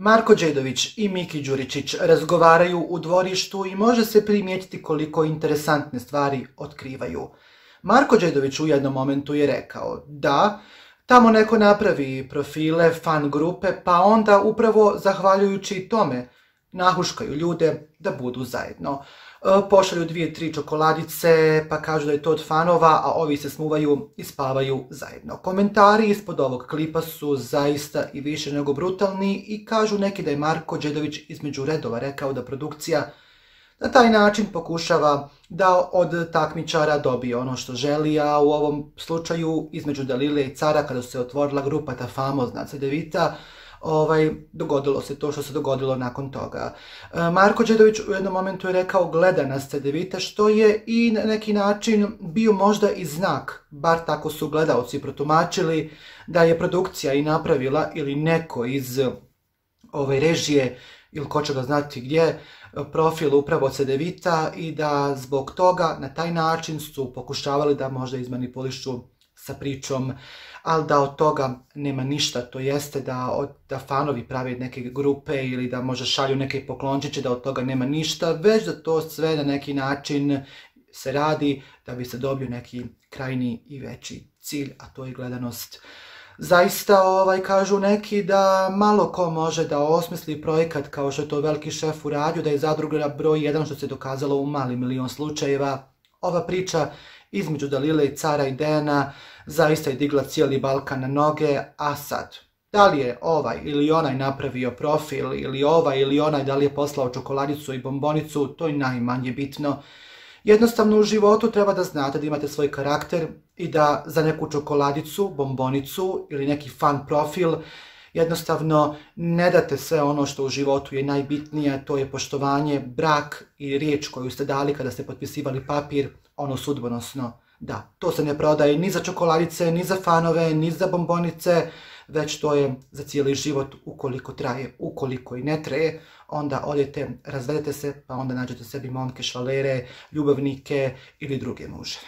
Marko Đedović i Miki Đuričić razgovaraju u dvorištu i može se primijetiti koliko interesantne stvari otkrivaju. Marko Đedović u jednom momentu je rekao da tamo neko napravi profile, fan grupe, pa onda upravo zahvaljujući tome nahuškaju ljude da budu zajedno. Pošalju 2-3 čokoladice, pa kažu da je to od fanova, a ovi se smuvaju i spavaju zajedno. Komentari ispod ovog klipa su zaista i više nego brutalni i kažu neki da je Marko Đedović između redova rekao da produkcija na taj način pokušava da od takmičara dobije ono što želi, a u ovom slučaju između Dalile i Cara, kada se otvorila grupa ta famozna CDVita, dogodilo se to što se dogodilo nakon toga. Marko Đedović u jednom momentu je rekao gleda nas CDVita, što je i na neki način bio možda i znak, bar tako su gledaoci protumačili, da je produkcija i napravila ili neko iz režije ili ko će ga znati gdje, profil upravo CDVita i da zbog toga na taj način su pokušavali da možda izmanipulišu sa pričom, ali da od toga nema ništa, to jeste da fanovi prave neke grupe ili da možda šalju neke poklončiće, da od toga nema ništa, već da to sve na neki način se radi da bi se dobio neki krajnji i veći cilj, a to je gledanost. Zaista kažu neki da malo ko može da osmisli projekat kao što je to veliki šef uradio, da je zadruga broj 1 što se dokazalo u mali milion slučajeva. Ova priča između Dalile i Cara i Dejana zaista je digla cijeli Balkan na noge, a sad, da li je ovaj ili onaj napravio profil, ili ovaj ili onaj da li je poslao čokoladicu i bombonicu, to je najmanje bitno. Jednostavno u životu treba da znate da imate svoj karakter i da za neku čokoladicu, bombonicu ili neki fan profil jednostavno ne date sve ono što u životu je najbitnije, to je poštovanje, brak i riječ koju ste dali kada ste potpisivali papir, ono sudbonosno. Da, to se ne prodaje ni za čokoladice, ni za fanove, ni za bombonice, već to je za cijeli život ukoliko traje. Ukoliko i ne traje, onda odete, razvedete se, pa onda nađete sebi momke, švalere, ljubavnike ili druge muževe.